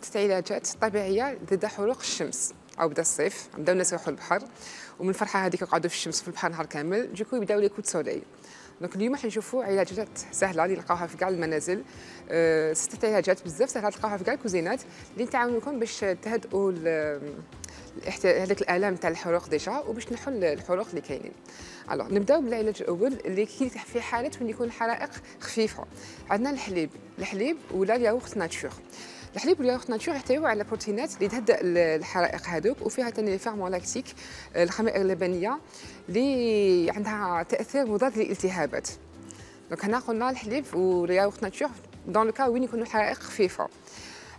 ستة علاجات طبيعيه ضد حروق الشمس. او بدا الصيف بداو الناس يروحوا للبحر، ومن الفرحه هذيك يقعدوا في الشمس في البحر نهار كامل، دوكو يبداو لي كوت سولي. دونك اليوم راح نشوفوا علاجات سهله اللي نلقاوها في كاع المنازل. ستة علاجات بزاف سهله تلقاوها في كاع الكوزينات اللي تعاونكم باش تهدئوا هذاك الالام تاع الحروق ديجا، وباش تنحوا الحروق اللي كاينين. الوغ نبداو بالعلاج الاول اللي في حاله وين يكون الحرائق خفيفه. عندنا الحليب ولا الياغورت ناتور. الحليب والياغورت ناتور يحتويوا على بروتينات اللي تهدئ الحرائق هذوك، وفيها ثاني فيرمون لاكتيك الخمائر اللبنيه اللي عندها تاثير مضاد للالتهابات. دونك هنا قلنا الحليب والياغورت ناتور دون لو كا وين يكونوا الحرائق خفيفه.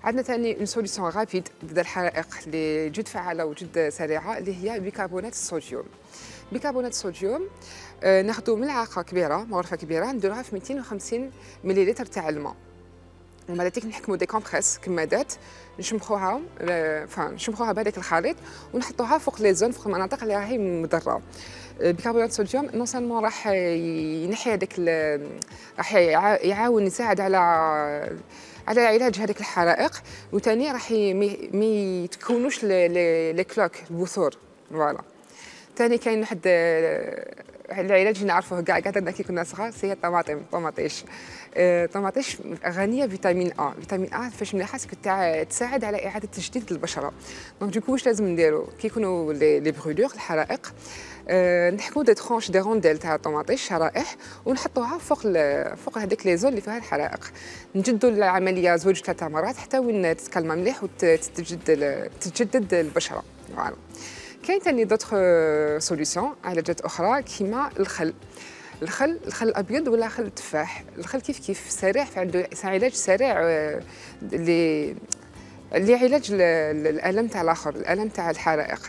عندنا ثاني اون سوليسيون رابيد ضد الحرائق اللي جد فعاله وجد سريعه اللي هي بيكربونات الصوديوم. بيكربونات الصوديوم ناخذوا ملعقه كبيره، مغرفه كبيره، نديروها في 250 مليلتر تاع الماء، ومن بعد نحكموا دي كومبريس كمادات نشمخوها بهذاك الخليط ونحطوها فوق لي زون، فوق المناطق اللي راهي مضره. بيكربونات الصوديوم نون سالمون راح ينحي هذاك، راح يعاون يساعد على علاج هذيك الحرائق، وثاني راح ما يتكونوش لي كلوك البثور. فوالا. ثاني كاين واحد العلاج اللي نعرفوه كاع درنا كي كنا صغار، هي الطماطيش. الطماطيش غنيه بفيتامين ا. فيتامين ا فاش مليحه تساعد على اعاده تجديد البشره. دونك دوكو واش لازم نديرو كي يكونوا لي برولور الحرائق، نحكموا دي ترونش دي رونديل تاع الطماطيش شرائح ونحطوها فوق هذيك لي زون اللي فيها الحرائق. نجدوا العمليه زوج ثلاثه مرات حتى وين تتكلم مليح وتتجدد البشره. فوالا. كاين ثاني دوطخ سوليسيون علاجات اخرى كيما الخل الابيض ولا خل التفاح. الخل كيف سريع، عنده علاج سريع اللي علاج الالم تاع الاخر، الالم تاع الحرائق.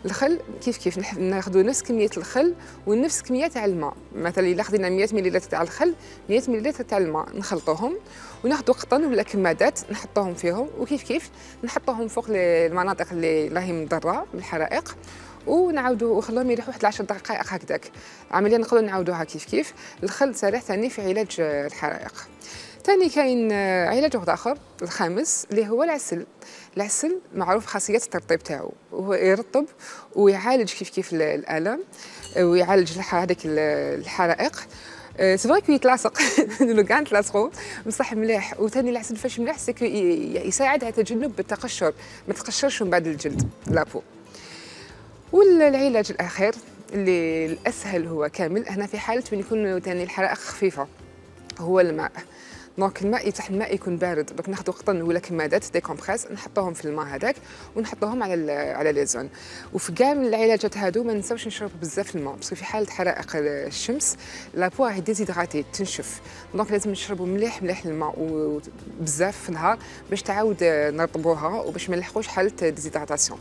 الخل كيف ناخذوا نفس كميه الخل ونفس كميه تاع الماء. مثلا الا خدينا 100 ملل تاع الخل 100 ملل تاع الماء، نخلطوهم وناخذوا قطن ولا كمادات نحطوهم فيهم، وكيف نحطوهم فوق المناطق اللي راهي مضره بالحرائق، ونعاودوا ونخلوهم يريحوا واحد 10 دقائق هكذاك. عمليا نقدروا نعاودوها كيف. الخل سريع ثاني في علاج الحرائق. ثاني كاين علاج واحد اخر الخامس اللي هو العسل معروف خاصيه الترطيب تاعو، هو يرطب ويعالج كيف الالم ويعالج هذيك الحرائق. سي فري كو يتلاصق لو كاع نتلاصقوا بصح مليح. وثاني العسل فاش مليح سكو يساعد على تجنب التقشر، ما تقشرش من بعد الجلد لابو. والعلاج الاخير اللي الاسهل هو كامل هنا في حاله وين يكون ثاني الحرائق خفيفه هو الماء. دونك الماء يكون بارد، دونك ناخذوا قطن ولا كمادات دي كومبريس نحطوهم في الماء هذاك ونحطوهم على لي زون. وفي كاع من العلاجات هادو ما ننساوش نشربوا بزاف الماء، باسكو في حاله حرائق الشمس لابو راهي ديزيدراتي تنشف. دونك لازم نشربوا مليح الماء وبزاف في النهار باش تعاود نرطبوها وباش ما نلحقوش حاله ديزيدراتاسيون.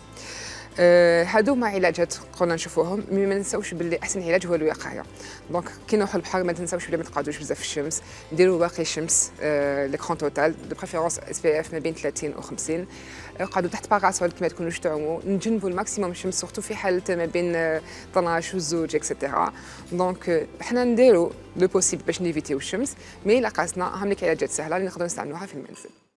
هادو ما علاجات قلنا نشوفوهم، مي ما ننساوش باللي احسن علاج هو الوقايه. دونك كي نروحوا للبحر ما تنساوش بلي ما تقعدوش بزاف في الشمس، نديروا واقي شمس ليكرون توتال دو بريفيرونس اس بي اف ما بين 30 و 50. قعدوا تحت باراسول كي ما تكونوش تعوموا، نجنبوا الماكسيموم الشمس سورتو في حاله ما بين 12 و 2 اكسيتيرا. دونك حنا نديروا لو بوسيبل باش نيفيتيو الشمس، مي لا قاسنا هم لك علاجات سهله اللي نقدروا نستعملوها في المنزل.